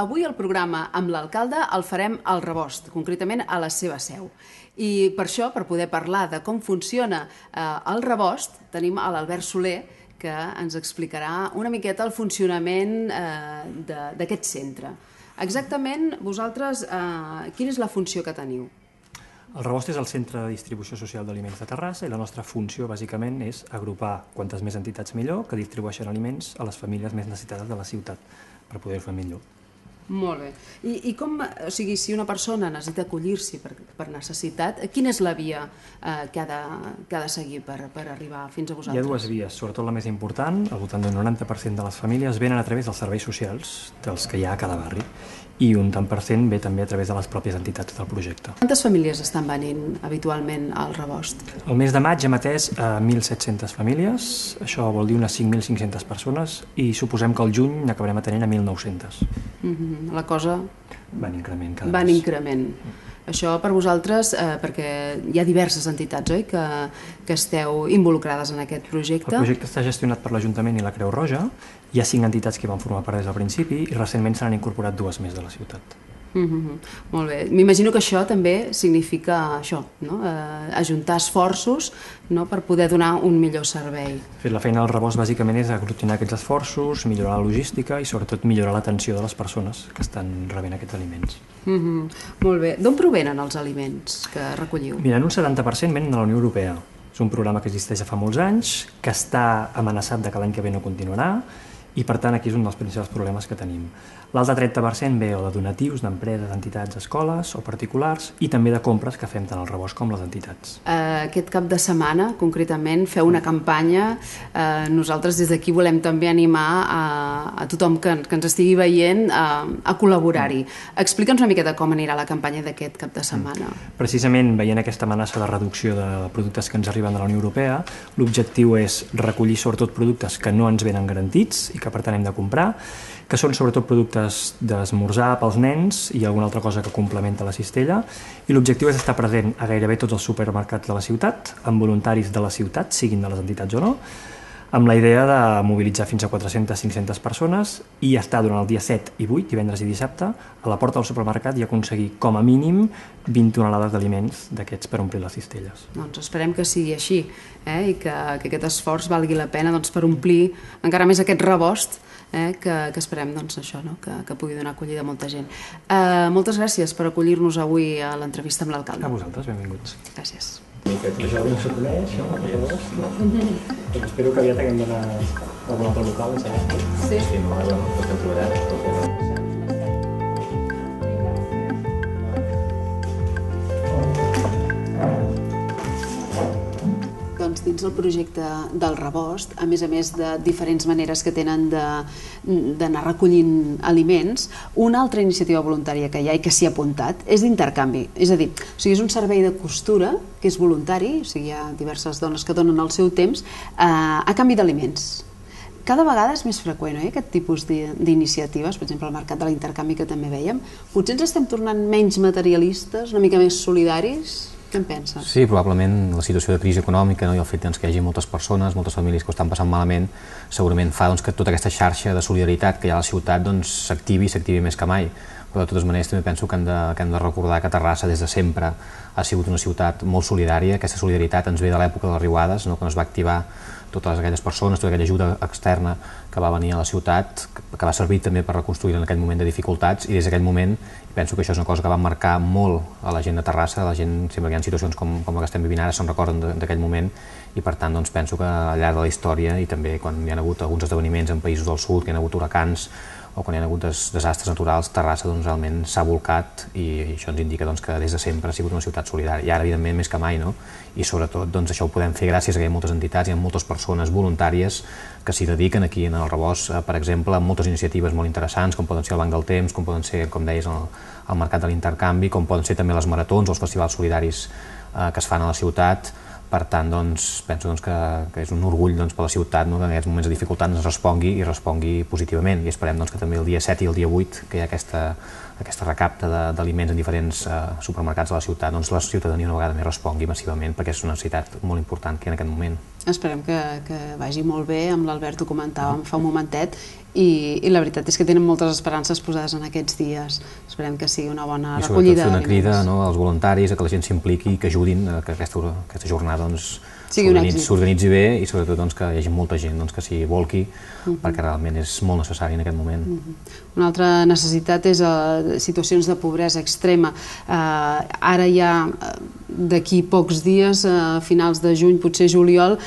avui el programa amb l'alcalde el farem al Rebost, concretament a la seva seu. I per això, per poder parlar de com funciona el Rebost, tenim a l'Albert Soler, que ens explicarà una miqueta el funcionament d'aquest centre. Exactament, vosaltres, quina és la funció que teniu? El Rebost és el centre de distribució social d'aliments de Terrassa i la nostra funció, bàsicament, és agrupar quantes més entitats millor que distribueixen aliments a les famílies més necessitades de la ciutat per poder-ho fer millor. Molt bé. I com, o sigui, si una persona necessita acollir-s'hi per necessitat, quina és la via que ha de seguir per arribar fins a vosaltres? Hi ha dues vies, sobretot la més important, al voltant d'un 90% de les famílies venen a través dels serveis socials, dels que hi ha a cada barri, i un tant per cent ve també a través de les pròpies entitats del projecte. Quantes famílies estan venint habitualment al Rebost? El mes de maig hem atès 1.700 famílies, això vol dir unes 5.500 persones, i suposem que al juny n'acabarem atenent a 1.900. La cosa... Va en increment cada mes. Va en increment. Això per vosaltres, perquè hi ha diverses entitats, oi?, que esteu involucrades en aquest projecte. El projecte està gestionat per l'Ajuntament i la Creu Roja. Hi ha 5 entitats que van formar part des del principi i recentment se n'han incorporat 2 més de la ciutat. Molt bé. M'imagino que això també significa això, no? Ajuntar esforços, no?, per poder donar un millor servei. La feina del Rebost bàsicament és aglutinar aquests esforços, millorar la logística i sobretot millorar l'atenció de les persones que estan rebent aquests aliments. Molt bé. D'on provenen els aliments que recolliu? Mira, un 70% venen de la Unió Europea. És un programa que existeix fa molts anys, que està amenaçat de que l'any que ve no continuarà, i per tant aquí és un dels principals problemes que tenim. L'altre 30% ve o de donatius d'empreses, entitats, escoles o particulars i també de compres que fem tant al Rebost com les entitats. Aquest cap de setmana, concretament, feu una campanya. Nosaltres des d'aquí volem també animar a tothom que ens estigui veient a col·laborar-hi. Explica'ns una miqueta com anirà la campanya d'aquest cap de setmana. Precisament veient aquesta amenaça de reducció de productes que ens arriben de la Unió Europea, l'objectiu és recollir sobretot productes que no ens venen garantits i que per tant hem de comprar, que són sobretot productes d'esmorzar pels nens i alguna altra cosa que complementa la cistella, i l'objectiu és estar present a gairebé tots els supermercats de la ciutat, amb voluntaris de la ciutat, siguin de les entitats o no, amb la idea de mobilitzar fins a 400-500 persones i estar durant el dia 7 i 8, divendres i dissabte, a la porta del supermercat i aconseguir com a mínim 20 tonelades d'aliments d'aquests per omplir les cistelles. Doncs esperem que sigui així, i que aquest esforç valgui la pena per omplir encara més aquest Rebost, que esperem això, que pugui donar acollida a molta gent. Moltes gràcies per acollir-nos avui a l'entrevista amb l'alcalde. A vosaltres, benvinguts. Gràcies. Jo no s'ho coneix, no? Doncs espero que aviat haguem d'anar a algun altre local. Sí. Sí, no, tot hem trobat. Dins del projecte del Rebost, a més de diferents maneres que tenen d'anar recollint aliments, una altra iniciativa voluntària que hi ha i que s'hi ha apuntat és d'intercanvi. És a dir, és un servei de costura que és voluntari, hi ha diverses dones que donen el seu temps a canvi d'aliments. Cada vegada és més freqüent, aquest tipus d'iniciatives, per exemple el mercat de l'intercanvi que també vèiem. Potser ens estem tornant menys materialistes, una mica més solidaris? Què en penses? Sí, probablement la situació de crisi econòmica i el fet que hi hagi moltes persones, moltes famílies que ho estan passant malament, segurament fa que tota aquesta xarxa de solidaritat que hi ha a la ciutat s'activi més que mai. Però de totes maneres també penso que hem de recordar que Terrassa des de sempre ha sigut una ciutat molt solidària. Aquesta solidaritat ens ve de l'època de les riuades, quan es va activar totes aquelles persones, tota aquella ajuda externa que va venir a la ciutat, que va servir també per reconstruir en aquell moment de dificultats, i des d'aquell moment penso que això és una cosa que va marcar molt a la gent de Terrassa. La gent, sempre que hi ha situacions com la que estem vivint ara, se'n recorden d'aquell moment, i per tant penso que al llarg de la història, i també quan hi ha hagut alguns esdeveniments en països del sud, que hi ha hagut huracans o quan hi ha hagut desastres naturals, Terrassa realment s'ha volcat, i això ens indica que des de sempre ha sigut una ciutat solidària, i ara evidentment més que mai, i sobretot això ho podem fer gràcies a que hi ha moltes entitats, hi ha moltes persones voluntàries que s'hi dediquen aquí en el Rebost, per exemple, amb moltes iniciatives molt interessants, com poden ser el Banc del Temps, com poden ser, com deies, el Mercat de l'Intercanvi, com poden ser també les maratons o els festivals solidaris que es fan a la ciutat. Per tant, penso que és un orgull per la ciutat que en aquests moments de dificultat ens respongui positivament, i esperem que també el dia 7 i el dia 8, que hi ha aquesta recapta d'aliments en diferents supermercats de la ciutat, la ciutadania una vegada més respongui massivament, perquè és una necessitat molt important que en aquest moment. Esperem que vagi molt bé, amb l'Albert ho comentàvem fa un momentet, i la veritat és que tenen moltes esperances posades en aquests dies. Esperem que sigui una bona recollida. I sobretot fer una crida als voluntaris, a que la gent s'impliqui i que ajudin a que aquesta jornada s'organitzi bé i sobretot que hi hagi molta gent que s'hi volqui, perquè realment és molt necessari en aquest moment. Una altra necessitat és situacions de pobresa extrema. Ara ja, d'aquí pocs dies, a finals de juny, potser juliol,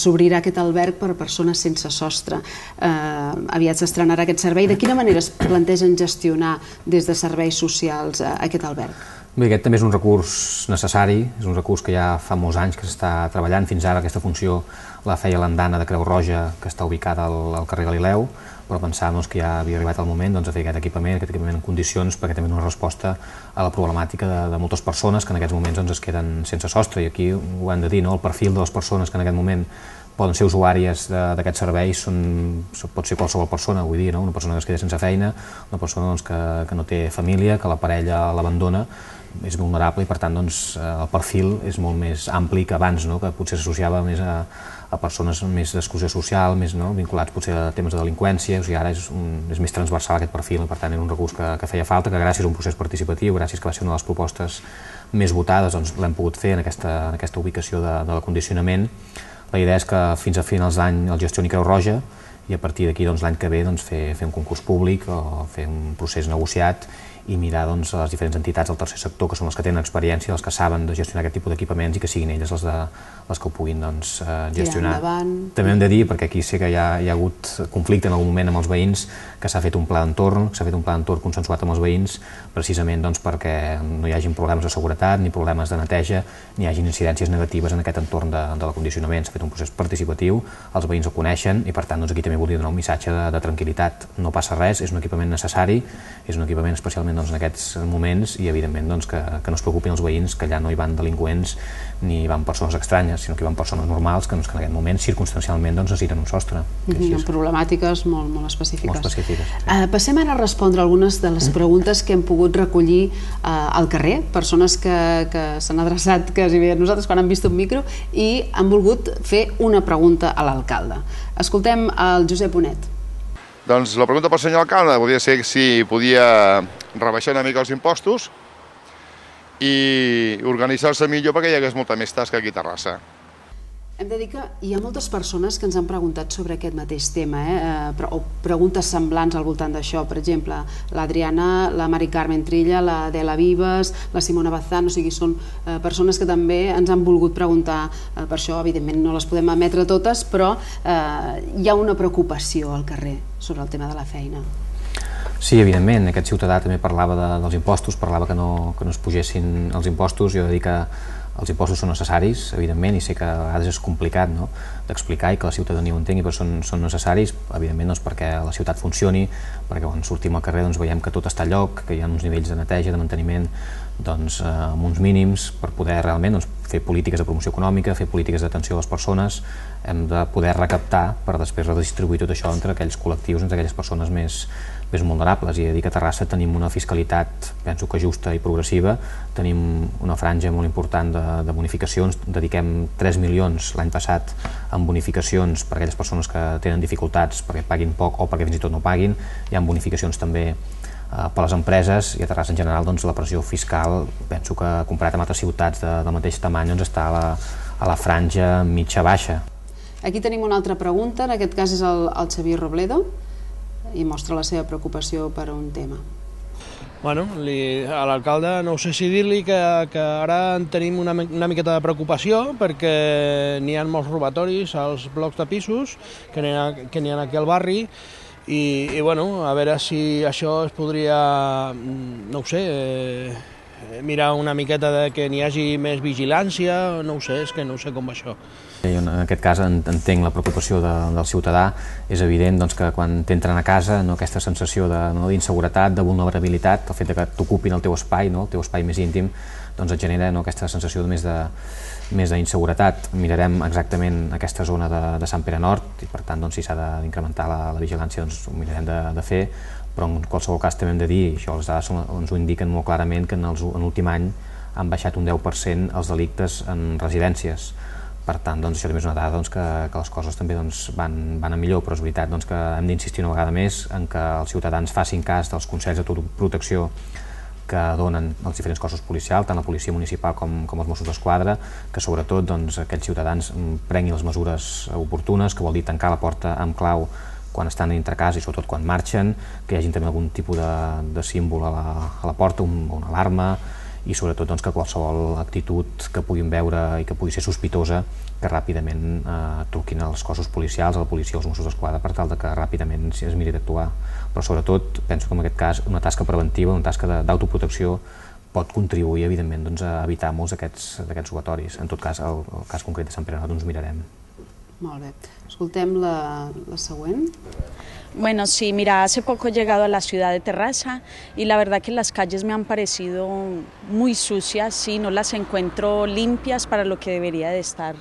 s'obrirà aquest alberg per a persones sense sostre. Aviat s'estrenarà aquest servei. De quina manera es plantegen gestionar des de serveis socials aquest alberg? Bé, aquest també és un recurs necessari, és un recurs que ja fa molts anys que s'està treballant. Fins ara aquesta funció la feia l'andana de Creu Roja, que està ubicada al carrer Galileu, però pensàvem que ja havia arribat el moment de fer aquest equipament en condicions, perquè també és una resposta a la problemàtica de moltes persones que en aquests moments es queden sense sostre. I aquí ho hem de dir, el perfil de les persones que en aquest moment poden ser usuàries d'aquests serveis pot ser qualsevol persona, vull dir, una persona que es queda sense feina, una persona que no té família, que la parella l'abandona, és vulnerable i per tant el perfil és molt més ampli que abans, que potser s'associava més a persones més d'exclusió social, més vinculats potser a temes de delinqüència. O sigui, ara és més transversal aquest perfil i per tant era un recurs que feia falta, que gràcies a un procés participatiu, gràcies que va ser una de les propostes més votades, l'hem pogut fer en aquesta ubicació de l'acondicionament. La idea és que fins a finals d'any el gestioni Creu Roja i a partir d'aquí l'any que ve fer un concurs públic o fer un procés negociat i mirar a les diferents entitats del tercer sector, que són les que tenen experiència, les que saben de gestionar aquest tipus d'equipaments i que siguin elles les que ho puguin gestionar. També hem de dir, perquè aquí sé que hi ha hagut conflicte en algun moment amb els veïns, que s'ha fet un pla d'entorn, consensuat amb els veïns, precisament perquè no hi hagin problemes de seguretat, ni problemes de neteja, ni hi hagin incidències negatives en aquest entorn de l'acondicionament. S'ha fet un procés participatiu, els veïns ho coneixen i per tant aquí també volia donar un missatge de tranquil·litat. No passa res, és un equipament necessari, és un equipament especialment en aquests moments i evidentment que no es preocupin els veïns, que allà no hi van delinqüents ni hi van persones estranyes, sinó que hi van persones normals que en aquest moment circumstancialment necessiten un sostre. Amb problemàtiques molt específiques. Sí. Passem ara a respondre algunes de les preguntes que hem pogut recollir al carrer, persones que s'han adreçat quasi bé a nosaltres quan han vist un micro i han volgut fer una pregunta a l'alcalde. Escoltem el Josep Bonet. Doncs la pregunta pel senyor alcalde volia ser si podia rebaixar una mica els impostos i organitzar-se millor perquè hi hagués molta més tasca aquí a Terrassa. Hem de dir que hi ha moltes persones que ens han preguntat sobre aquest mateix tema, o preguntes semblants al voltant d'això. Per exemple, l'Adriana, la Mari Carmen Trilla, l'Adela Vives, la Simona Bazán, o sigui, són persones que també ens han volgut preguntar per això. Evidentment no les podem emetre totes, però hi ha una preocupació al carrer sobre el tema de la feina. Sí, evidentment, aquest ciutadà també parlava dels impostos, parlava que no es pugessin els impostos. Jo he de dir que els impostos són necessaris, evidentment, i sé que a vegades és complicat d'explicar i que la ciutadania ho entengui, però són necessaris, evidentment, perquè la ciutat funcioni, perquè quan sortim al carrer veiem que tot està a lloc, que hi ha uns nivells de neteja, de manteniment amb uns mínims per poder realment fer polítiques de promoció econòmica, fer polítiques d'atenció a les persones. Hem de poder recaptar per després redistribuir tot això entre aquells col·lectius, entre aquelles persones més vulnerables. I he de dir que a Terrassa tenim una fiscalitat, penso que justa i progressiva, tenim una franja molt important de bonificacions, dediquem 3 milions l'any passat en bonificacions per a aquelles persones que tenen dificultats perquè paguin poc o perquè fins i tot no paguin. Hi ha bonificacions també per a les empreses i a Terrassa en general la pressió fiscal, penso que comparat amb altres ciutats del mateix tamany està a la franja mitja-baixa. Aquí tenim una altra pregunta, en aquest cas és el Xavier Robledo, i mostra la seva preocupació per un tema. Bueno, a l'alcalde no sé si dir-li que ara en tenim una miqueta de preocupació perquè n'hi ha molts robatoris als blocs de pisos que n'hi ha aquí al barri i bueno, a veure si això es podria, no ho sé, mirar una miqueta que n'hi hagi més vigilància, no ho sé, és que no sé com va això. Jo en aquest cas entenc la preocupació del ciutadà. És evident que quan t'entren a casa aquesta sensació d'inseguretat, de vulnerabilitat, el fet que t'ocupin el teu espai, el teu espai més íntim, et genera aquesta sensació més d'inseguretat. Mirarem exactament aquesta zona de Sant Pere Nord i per tant si s'ha d'incrementar la vigilància ho mirarem de fer, però en qualsevol cas també hem de dir, això les dades ens ho indiquen molt clarament, que en l'últim any han baixat un 10% els delictes en residències. Per tant, això també és una dada que les coses també van a millor, però és veritat que hem d'insistir una vegada més en que els ciutadans facin cas dels consells d'autoprotecció que donen els diferents cossos policials, tant la policia municipal com els Mossos d'Esquadra, que sobretot aquells ciutadans prenguin les mesures oportunes, que vol dir tancar la porta amb clau quan estan dintre casa i sobretot quan marxen, que hi hagi també algun tipus de símbol a la porta, una alarma, i sobretot que qualsevol actitud que puguin veure i que pugui ser sospitosa, que ràpidament truquin als cossos policials, a la policia o als Mossos d'Esquadra, per tal que ràpidament es miri d'actuar. Però sobretot penso que en aquest cas una tasca preventiva, una tasca d'autoprotecció pot contribuir evidentment a evitar molts d'aquests robatoris. En tot cas, el cas concret de Sant Pere Not ens mirarem. Molt bé. Escoltem la següent. Bueno, sí, mira, hace poco he llegado a la ciudad de Terrassa y la verdad que las calles me han parecido muy sucias, sí, no las encuentro limpias para lo que debería de estar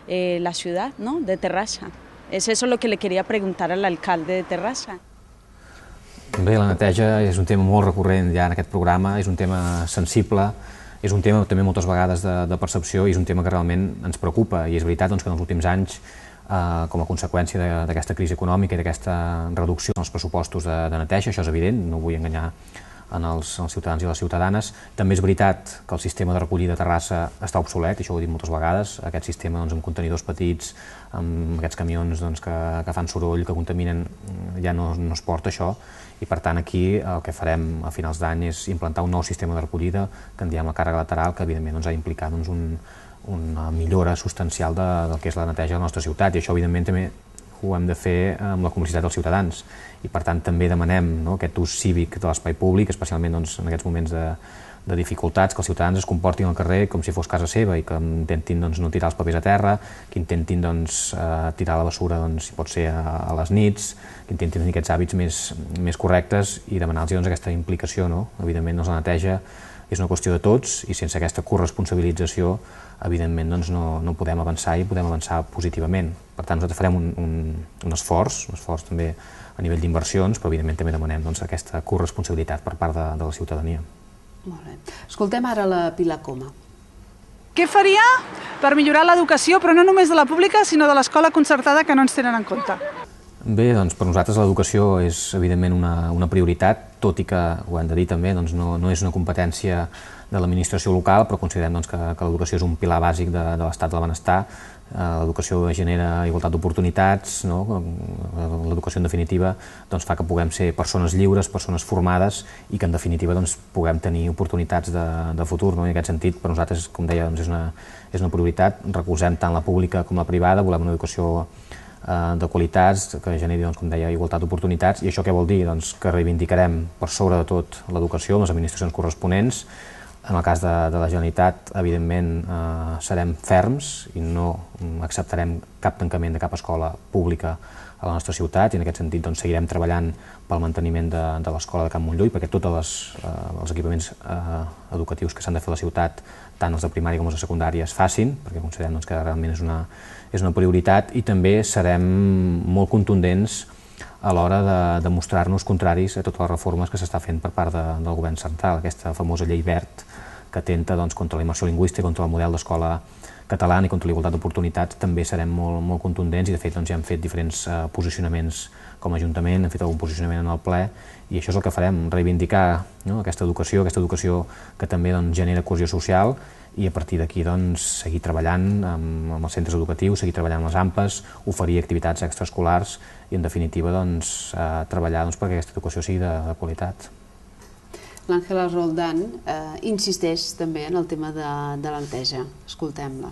la ciudad, ¿no?, de Terrassa. Es eso lo que le quería preguntar al alcalde de Terrassa. Bé, la neteja és un tema molt recurrent ja en aquest programa, és un tema sensible, és un tema també moltes vegades de percepció i és un tema que realment ens preocupa, i és veritat que en els últims anys, com a conseqüència d'aquesta crisi econòmica i d'aquesta reducció en els pressupostos de neteja, això és evident, no vull enganyar els ciutadans i les ciutadanes. També és veritat que el sistema de recollida a Terrassa està obsolet, això ho he dit moltes vegades, aquest sistema amb contenidors petits, amb aquests camions que fan soroll, que contaminen, ja no es porta això, i per tant aquí el que farem a finals d'any és implantar un nou sistema de recollida que en diem la càrrega lateral, que evidentment ha d'implicar una millora substancial del que és la neteja de la nostra ciutat, i això evidentment també ho hem de fer amb la complicitat dels ciutadans, i per tant també demanem aquest ús cívic de l'espai públic, especialment en aquests moments de dificultats, que els ciutadans es comportin al carrer com si fos casa seva i que intentin no tirar els papers a terra, que intentin tirar la bessura si pot ser a les nits, que intentin tenir aquests hàbits més correctes i demanar-los aquesta implicació. Evidentment la neteja és una qüestió de tots i sense aquesta corresponsabilització evidentment no podem avançar i podem avançar positivament. Per tant, nosaltres farem un esforç també a nivell d'inversions, però evidentment també demanem aquesta corresponsabilitat per part de la ciutadania. Molt bé. Escoltem ara la Pilar Coma. Què faria per millorar l'educació, però no només de la pública, sinó de l'escola concertada, que no ens tenen en compte? Bé, per nosaltres l'educació és evidentment una prioritat, tot i que, ho hem de dir també, no és una competència de l'administració local, però considerem que l'educació és un pilar bàsic de l'estat del benestar. L'educació genera igualtat d'oportunitats, l'educació en definitiva fa que puguem ser persones lliures, persones formades i que en definitiva puguem tenir oportunitats de futur. En aquest sentit, per nosaltres, com deia, és una prioritat. Recolzem tant la pública com la privada, volem una educació de qualitats, que generi, com deia, igualtat d'oportunitats, i això què vol dir? Que reivindicarem per sobre de tot l'educació amb les administracions corresponents. En el cas de la Generalitat, evidentment, serem ferms i no acceptarem cap tancament de cap escola pública a la nostra ciutat, i en aquest sentit seguirem treballant pel manteniment de l'escola de Can Montllui, perquè tots els equipaments educatius que s'han de fer a la ciutat, tant els de primària com els de secundària, es facin, perquè considerem que realment és una prioritat, i també serem molt contundents a l'hora de demostrar-nos contraris a totes les reformes que s'està fent per part del govern central, aquesta famosa llei verd que atenta contra la immersió lingüística, contra el model d'escola catalana i contra l'igualtat d'oportunitats. També serem molt contundents, i de fet ja hem fet diferents posicionaments com a Ajuntament, hem fet algun posicionament en el ple, i això és el que farem, reivindicar aquesta educació que també genera cohesió social, i a partir d'aquí seguir treballant amb els centres educatius, seguir treballant amb les AMPAs, oferir activitats extraescolars i, en definitiva, treballar perquè aquesta educació sigui de qualitat. L'Àngela Roldán insisteix també en el tema de la neteja. Escoltem-la.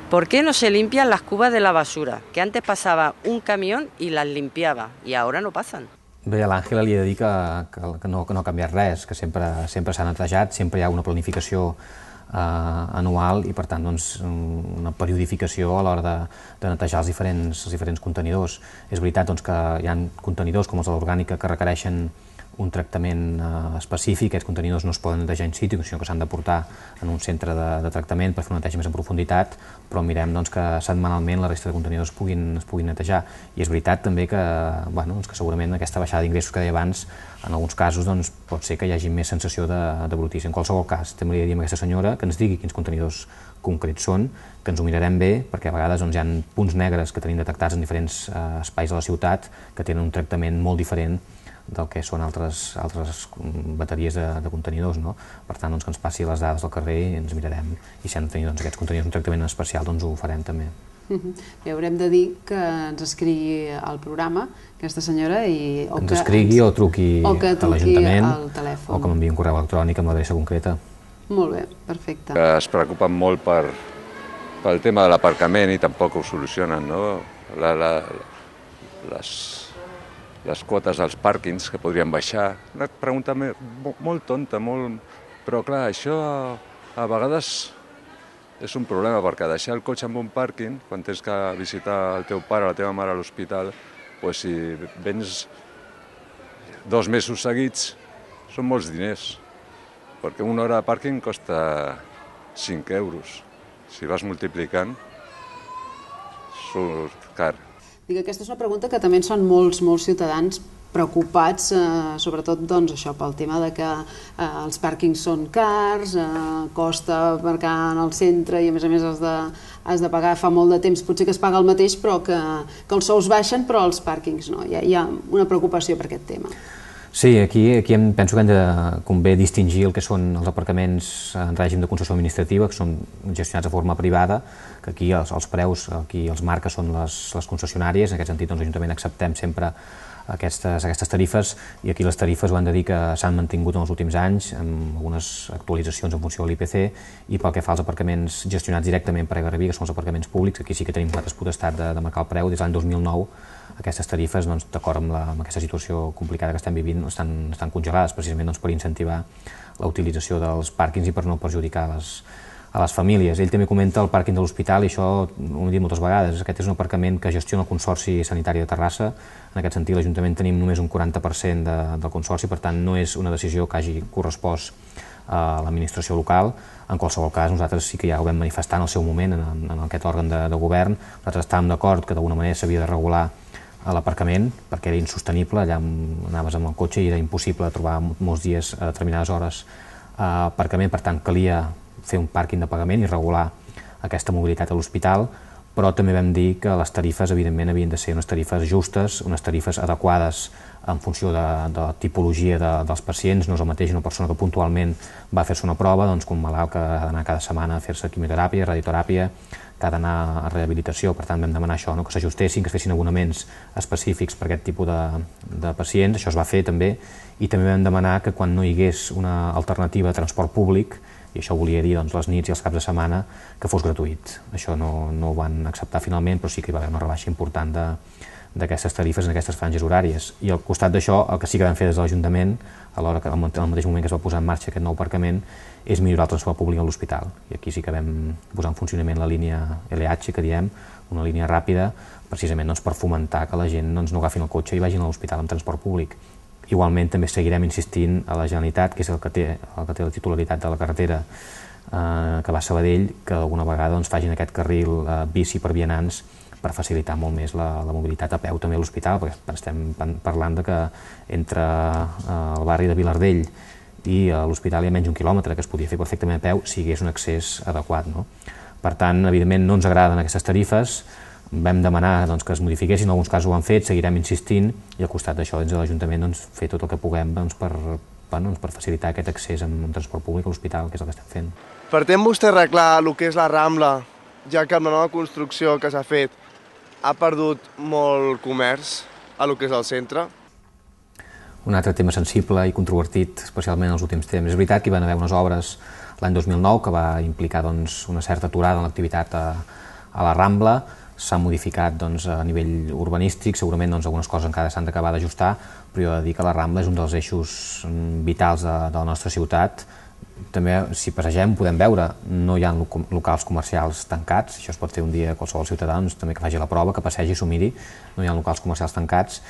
¿Por qué no se limpian las cubas de la basura? Que antes pasaba un camión y las limpiaba, y ahora no pasan. Bé, a l'Àngela li he de dir que no ha canviat res, que sempre s'ha netejat, sempre hi ha una planificació anual i, per tant, una periodificació a l'hora de netejar els diferents contenidors. És veritat que hi ha contenidors com els de l'orgànica que requereixen un tractament específic. Aquests contenidors no es poden netejar in situ, sinó que s'han de portar en un centre de tractament per fer una neteja més en profunditat, però mirem que setmanalment la resta de contenidors es puguin netejar. I és veritat també que segurament aquesta baixada d'ingressos que deia abans, en alguns casos pot ser que hi hagi més sensació de brutícia. En qualsevol cas, també li diríem a aquesta senyora que ens digui quins contenidors concrets són, que ens ho mirarem bé, perquè a vegades hi ha punts negres que tenim detectats en diferents espais de la ciutat que tenen un tractament molt diferent del que són altres bateries de contenidors. Per tant, que ens passi les dades del carrer i ens mirarem, i si han de tenir aquests contenidors un tractament especial, ho farem també. Bé, haurem de dir que ens escrigui al programa aquesta senyora i... Ens escrigui o truqui a l'Ajuntament o que m'enviï un correu electrònic amb l'adreça concreta. Molt bé, perfecte. Es preocupen molt pel tema de l'aparcament i tampoc ho solucionen, no? Les quotes dels pàrquings que podrien baixar. Una pregunta molt tonta, però clar, això a vegades és un problema, perquè deixar el cotxe en un pàrquing, quan tens que visitar el teu pare o la teva mare a l'hospital, si vens 2 mesos seguits, són molts diners, perquè una hora de pàrquing costa 5 euros. Si vas multiplicant, surt car. Aquesta és una pregunta que també són molts ciutadans preocupats, sobretot això, pel tema de que els pàrquings són cars, costa aparcar en el centre i a més has de pagar fa molt de temps, potser que es paga el mateix però que els sous baixen però els pàrquings no. Hi ha una preocupació per aquest tema. Sí, aquí penso que convé distingir el que són els aparcaments en règim de concessió administrativa, que són gestionats de forma privada, que aquí els preus, aquí els marques són les concessionàries, en aquest sentit l'Ajuntament acceptem sempre aquestes tarifes, i aquí les tarifes ho han de dir que s'han mantingut en els últims anys, amb algunes actualitzacions en funció de l'IPC, i pel que fa als aparcaments gestionats directament per Egarrevi, que són els aparcaments públics, aquí sí que tenim nosaltres potestat de marcar el preu. Des de l'any 2009 aquestes tarifes, d'acord amb aquesta situació complicada que estem vivint, estan congelades, precisament per incentivar la utilització dels pàrquings i per no perjudicar a les famílies. Ell també comenta el pàrquing de l'hospital, i això ho hem dit moltes vegades, aquest és un aparcament que gestiona el Consorci Sanitari de Terrassa. En aquest sentit, l'Ajuntament tenim només un 40% del Consorci, per tant no és una decisió que hagi correspost a l'administració local. En qualsevol cas, nosaltres sí que ja ho vam manifestar en el seu moment en aquest òrgan de govern. Nosaltres estàvem d'acord que d'alguna manera s'havia de regular l'aparcament, perquè era insostenible, allà anaves amb el cotxe i era impossible trobar molts dies a determinades hores aparcament, per tant calia fer un pàrquing de pagament i regular aquesta mobilitat a l'hospital, però també vam dir que les tarifes evidentment havien de ser unes tarifes justes, unes tarifes adequades en funció de la tipologia dels pacients. No és el mateix una persona que puntualment va a fer-se una prova que un malalt que ha d'anar cada setmana a fer-se quimioteràpia, radioteràpia, que ha d'anar a rehabilitació. Per tant vam demanar això, que s'ajustessin, que es fessin abonaments específics per aquest tipus de pacients. Això es va fer també, i també vam demanar que quan no hi hagués una alternativa de transport públic, i això volia dir les nits i els caps de setmana, que fos gratuït. Això no ho van acceptar finalment, però sí que hi va haver una rebaixa important d'aquestes tarifes en aquestes franges horàries. I al costat d'això, el que sí que vam fer des de l'Ajuntament, alhora que en el mateix moment que es va posar en marxa aquest nou aparcament, és millorar el transport públic a l'hospital. I aquí sí que vam posar en funcionament la línia LH, que diem, una línia ràpida, precisament per fomentar que la gent no agafin el cotxe i vagin a l'hospital amb transport públic. Igualment també seguirem insistint a la Generalitat, que és el que té la titularitat de la carretera que va a Sabadell, que alguna vegada facin aquest carril bici per vianants per facilitar molt més la mobilitat a peu també a l'hospital, perquè estem parlant que entre el barri de Vilardell i l'hospital hi ha menys d'un quilòmetre, que es podia fer perfectament a peu si hi hagués un accés adequat. Per tant, evidentment no ens agraden aquestes tarifes, vam demanar que es modifiquessin, en alguns casos ho han fet, seguirem insistint, i al costat d'això des de l'Ajuntament fer tot el que puguem per facilitar aquest accés amb transport públic a l'hospital, que és el que estem fent. Pretén vostè arreglar el que és la Rambla, ja que amb la nova construcció que s'ha fet ha perdut molt comerç a lo que és el centre? Un altre tema sensible i controvertit, especialment en els últims temps. És veritat que hi van haver unes obres l'any 2009 que va implicar una certa aturada en l'activitat a la Rambla. S'ha modificat a nivell urbanístic, segurament algunes coses encara s'han d'acabar d'ajustar, però jo he de dir que la Rambla és un dels eixos vitals de la nostra ciutat. També, si passegem, podem veure, no hi ha locals comercials tancats, això es pot fer un dia qualsevol ciutadà, també que faci la prova, que passegi i s'ho miri, no hi ha locals comercials tancats.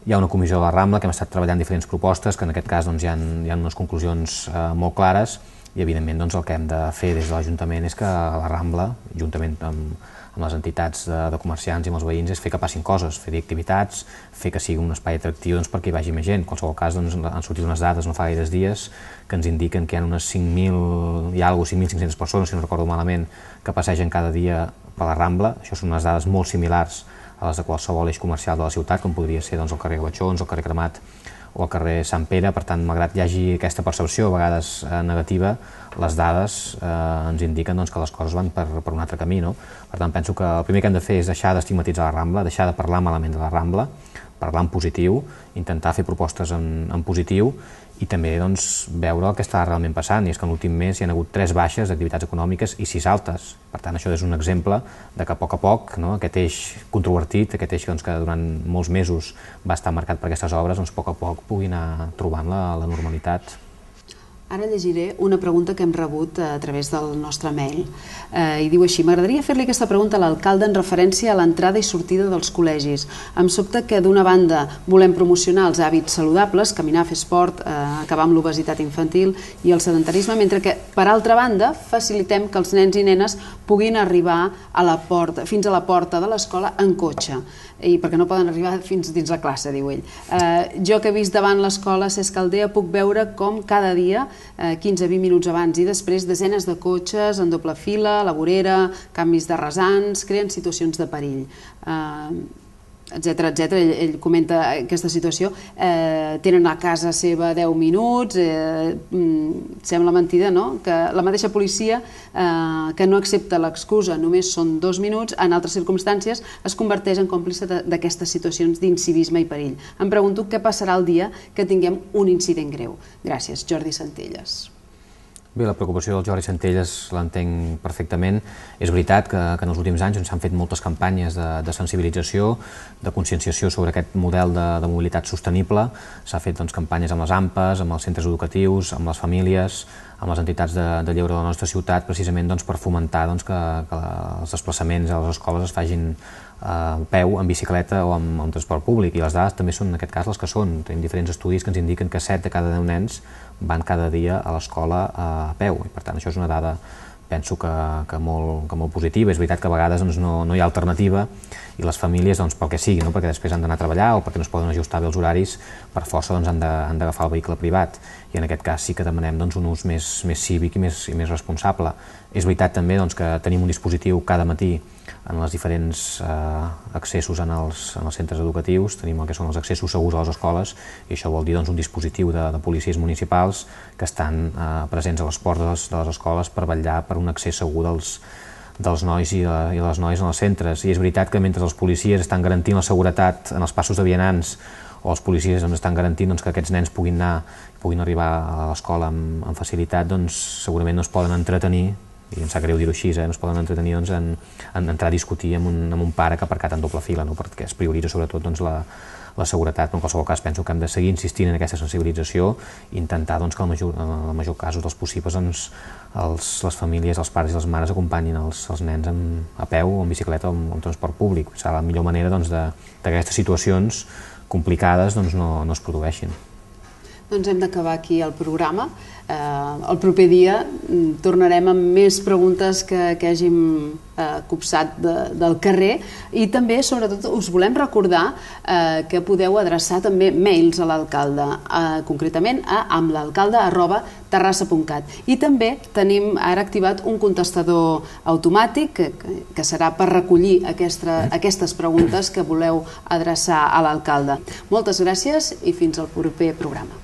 Hi ha una comissió de la Rambla que hem estat treballant diferents propostes, que en aquest cas hi ha unes conclusions molt clares, i evidentment el que hem de fer des de l'Ajuntament és que la Rambla, juntament amb amb les entitats de comerciants i amb els veïns és fer que passin coses, fer activitats, fer que sigui un espai atractiu perquè hi vagi més gent. En qualsevol cas, han sortit unes dades no fa gaires dies que ens indiquen que hi ha unes 5.000 i alguna cosa, 5.500 persones, si no recordo malament, que passegen cada dia per la Rambla. Això són unes dades molt similars a les de qualsevol eix comercial de la ciutat, com podria ser el carrer Gavatxons, el carrer Cremat o el carrer Sant Pere. Per tant, malgrat hi hagi aquesta percepció a vegades negativa, les dades ens indiquen que les coses van per un altre camí. Per tant, penso que el primer que hem de fer és deixar d'estigmatitzar la Rambla, deixar de parlar malament de la Rambla, parlar en positiu, intentar fer propostes en positiu i també veure el que està realment passant, i és que en l'últim mes hi ha hagut 3 baixes d'activitats econòmiques i 6 altes. Per tant, això és un exemple de que a poc, aquest eix controvertit, aquest eix que durant molts mesos va estar marcat per aquestes obres, a poc pugui anar trobant la normalitat. Ara llegiré una pregunta que hem rebut a través del nostre mail i diu així: m'agradaria fer-li aquesta pregunta a l'alcalde en referència a l'entrada i sortida dels col·legis. Em sobta que d'una banda volem promocionar els hàbits saludables, caminar, fer esport, acabar amb l'obesitat infantil i el sedentarisme, mentre que per altra banda facilitem que els nens i nenes puguin arribar fins a la porta de l'escola en cotxe, i perquè no poden arribar fins dins la classe, diu ell. Jo que he vist davant l'escola Cesc Caldea puc veure com cada dia 15-20 minuts abans i després desenes de cotxes en doble fila, la vorera, canvis de rasants, creen situacions de perill, etc. Ell comenta aquesta situació. Tenen a casa seva 10 minuts, sembla mentida, no? Que la mateixa policia que no accepta l'excusa, només són 2 minuts, en altres circumstàncies es converteix en còmplice d'aquestes situacions d'incivisme i perill. Em pregunto què passarà el dia que tinguem un incident greu. Gràcies, Jordi Centelles. Bé, la preocupació del Jordi Centelles l'entenc perfectament. És veritat que en els últims anys s'han fet moltes campanyes de sensibilització, de conscienciació sobre aquest model de mobilitat sostenible. S'ha fet campanyes amb les AMPAs, amb els centres educatius, amb les famílies, amb les entitats de lleure de la nostra ciutat, precisament per fomentar que els desplaçaments a les escoles es facin a peu, en bicicleta o amb transport públic, i les dades també són en aquest cas les que són. Tenim diferents estudis que ens indiquen que 7 de cada 10 nens van cada dia a l'escola a peu, i per tant això és una dada, penso que molt positiva. És veritat que a vegades no hi ha alternativa i les famílies, pel que sigui, perquè després han d'anar a treballar o perquè no es poden ajustar bé els horaris, per força han d'agafar el vehicle privat, i en aquest cas sí que demanem un ús més cívic i més responsable. És veritat també que tenim un dispositiu cada matí en els diferents accessos en els centres educatius, tenim el que són els accessos segurs a les escoles, i això vol dir un dispositiu de policies municipals que estan presents a les portes de les escoles per vetllar per un accés segur dels nois i les noies en els centres. I és veritat que mentre els policies estan garantint la seguretat en els passos de vianants, o els policies estan garantint que aquests nens puguin arribar a l'escola amb facilitat, segurament no es poden entretenir, i em sap greu dir-ho així, no es poden entretenir en entrar a discutir amb un pare que ha aparcat en doble fila, perquè es prioritza sobretot la seguretat. Però en qualsevol cas penso que hem de seguir insistint en aquesta sensibilització i intentar que en el major casos dels possibles les famílies, els pares i les mares acompanyin els nens a peu o en bicicleta o en transport públic. Serà la millor manera que aquestes situacions complicades no es produeixin. Doncs hem d'acabar aquí el programa. El proper dia tornarem amb més preguntes que hàgim copsat del carrer, i també, sobretot, us volem recordar que podeu adreçar també mails a l'alcalde, concretament a amlalcalde@terrassa.cat, i també tenim ara activat un contestador automàtic que serà per recollir aquestes preguntes que voleu adreçar a l'alcalde. Moltes gràcies i fins al proper programa.